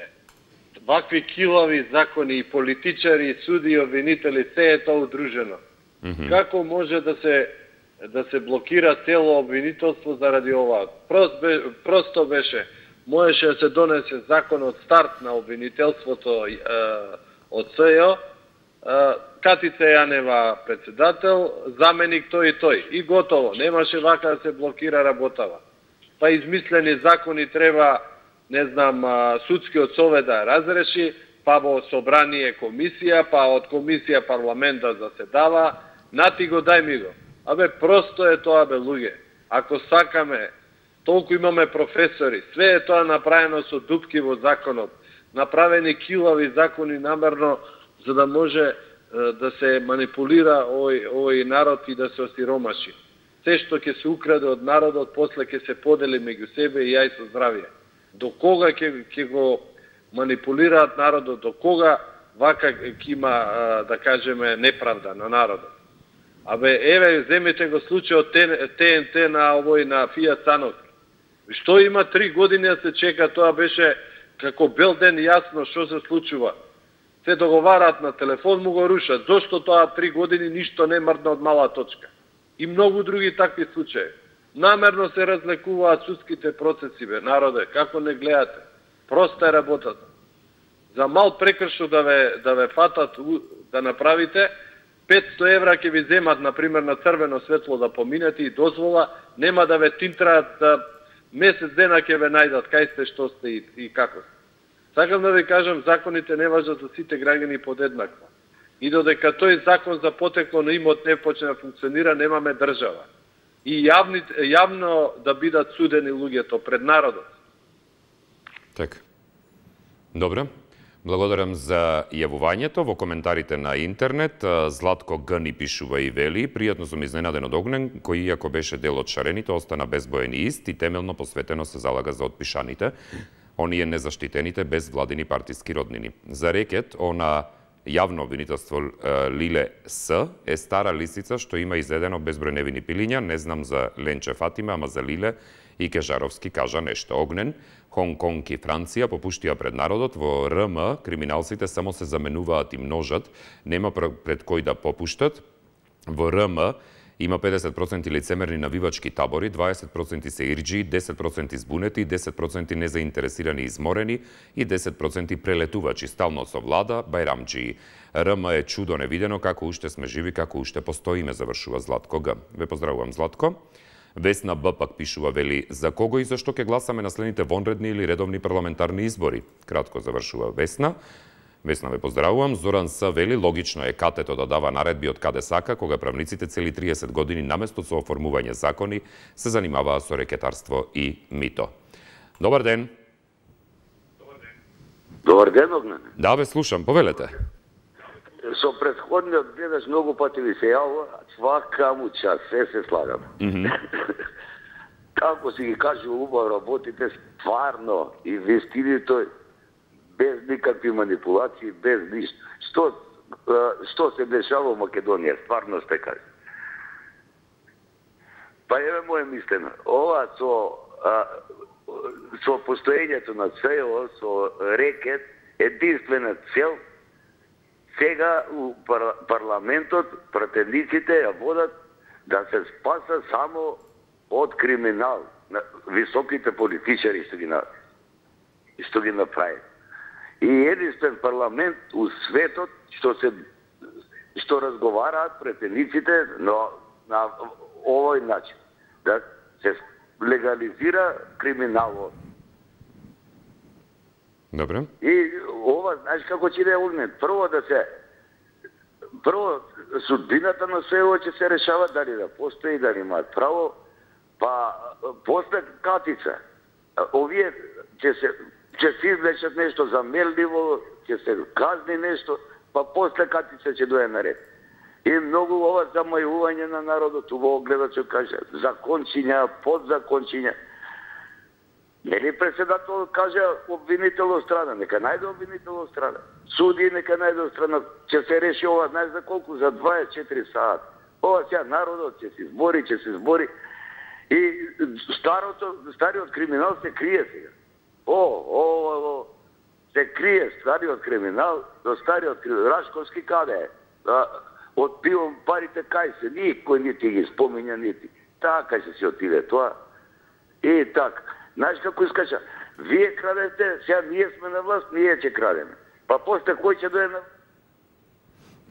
Вакви килави закони и политичари, и суди, и обвинители, се е тоа удружено. Mm-hmm. Како може да се да се блокира цело обвинителство заради ова? Прост бе, просто беше, можеше да се донесе закон од старт на обвинителството е, од СЈО, Катица Јанева председател, заменик тој и тој. И готово, немаше вака да се блокира работава. Па измислени закони треба, не знам, судскиот совет да разреши, па во собрание комисија, па од комисија парламент да заседава, нати го дај ми го. Абе, просто е тоа, бе, луѓе. Ако сакаме, толку имаме професори, све е тоа направено со дупки во законот, направени килави закони намерно, за да може да се манипулира овој, овој народ и да се осиромаши. Се што ќе се украде од народот, после ќе се подели меѓу себе и јај со здравие. До кога ќе, ќе го манипулираат народот, до кога вака ќе има, да кажеме, неправда на народот. Абе, еве, земете го случајот Т Н Т на овој, на Фијат Сановски. Што има три години да се чека, тоа беше како бел ден јасно што се случува. Се договараат на телефон, му го рушат. Зошто тоа три години ништо не мрдна од мала точка? И многу други такви случаи. Намерно се разлекуваат судските процеси, бе, народе, како не гледате. Проста е работата. За мал прекршо да ве, да ве фатат, да направите, петсто евра ќе ви земат, например, на црвено светло да поминете и дозвола, нема да ве тинтраат, да месец дена ќе ве најдат кај сте, што сте и, и како сте. Сакам да ви кажам, законите не важат за сите граѓани подеднакво. И додека тој закон за потекло на имот не почне да функционира, немаме држава. И јавни, јавно да бидат судени луѓето пред народот. Така. Добре. Благодарам за јавувањето. Во коментарите на интернет, Златко Г ни пишува и вели: пријатно сум изненаден од Огнен, кој иако беше дел од шарените, остана безбоен и ист и темелно посветено се залага за отпишаните, оние незаштитените без владини партиски роднини. За рекет, она јавно обвинителство Лиле С е стара лисица што има изедено безброј невини пилиња, не знам за Ленче Фатима, ама за Лиле и Кежаровски кажа нешто. Огнен, Хонг Конг и Франција попуштија пред народот, во Р М криминалците само се заменуваат и множат, нема пред кој да попуштат. Во Р М има педесет проценти лицемерни навивачки табори, дваесет проценти се ирџи, десет проценти збунети, десет проценти незаинтересирани и изморени и десет проценти прелетувачи, стално со влада, бајрамџии. Р М е чудо невидено, како уште сме живи, како уште постоиме, завршува Златко Г. Ве поздравувам, Златко. Весна Б пак пишува, вели: за кого и зашто ќе гласаме на следните вонредни или редовни парламентарни избори? Кратко завршува Весна. Весна, ве поздравувам. Зоран С вели: логично е катето да дава наредби од каде сака, кога правниците цели триесет години наместо со оформување закони се занимаваа со рекетарство и мито. Добар ден. Добар ден, Огнен. Да, ве слушам, повелете. Со предходниот гледаш многу пати ви се јавува, свака му час, се се слагам. Mm -hmm. Како си ги кажува убаво работите, стварно, инвестирите без никакви манипулации, без ништо. Што, што се дешава во Македонија, стварно сте кажа. Па еве моје мислено, ова со, а, со постоењето на СЈО, со рекет, единствена цел, сега у пар, парламентот пратениците ја водат да се спаса само од криминал, на високите политичари што ги, на, што ги направи. И единствен парламент у светот што се што разговараат претениците но на овој начин, да се легализира криминалот. Добре. И ова, знаеш како ќе да Огнен? Прво да се прво судбината на СЈО ќе се решава дали да постои, дали имаат право, па после Катица. Овие ќе се ќе се извлечат нешто замерливо, ќе се казни нешто, па после Катица ќе дое наред. И многу ова замајување на народот, во гледачот каже, закончиња, подзакончиња. Нели председател каже обвинител од страна, нека најде обвинител од страна. Суди нека најде од страна, ќе се реши ова, знаеш за колку? За дваесет и четири сати. Ова сега народот ќе се избори, ќе се избори. И старото, стариот криминал се крие сега. О, о, о, се крие стариот криминал, до стариот криминал. Рашковски каде е? од пивом парите кај се, никој нити ги спомиња, нити. Така се си отиде тоа. И така. Знаеш како искача? Вие крадете, сега ние сме на власт, ние ќе крадеме. Па после кој ќе дојде на...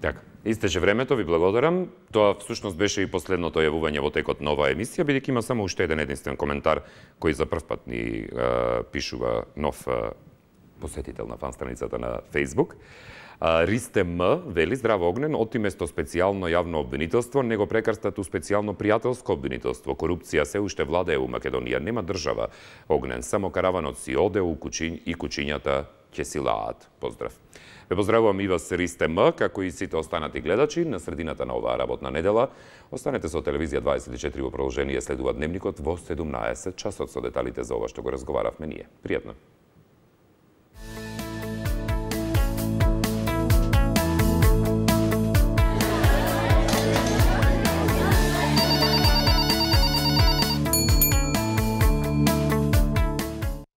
Така, истече времето, ви благодарам. Тоа всушност беше и последното јавување во текот на оваа емисија, бидејќи има само уште еден единствен коментар кој за прв пат ни е, пишува нов е, посетител на фан страницата на Facebook. Ристе М вели: здраво Огнен, оти место специјално јавно обвинителство, него прекрстат у специјално пријателско обвинителство. Корупција се уште владее у Македонија, нема држава. Огнен, само караванот си оде у куќињ и куќињата ќе си лаат. Поздрав. Ве поздравувам и вас, Ристе М, како и сите останати гледачи. На средината на оваа работна недела останете со Телевизија дваесет и четири во продолжение, следува Дневникот во седумнаесет часот со деталите за ова што го разговаравме ние. Пријатно.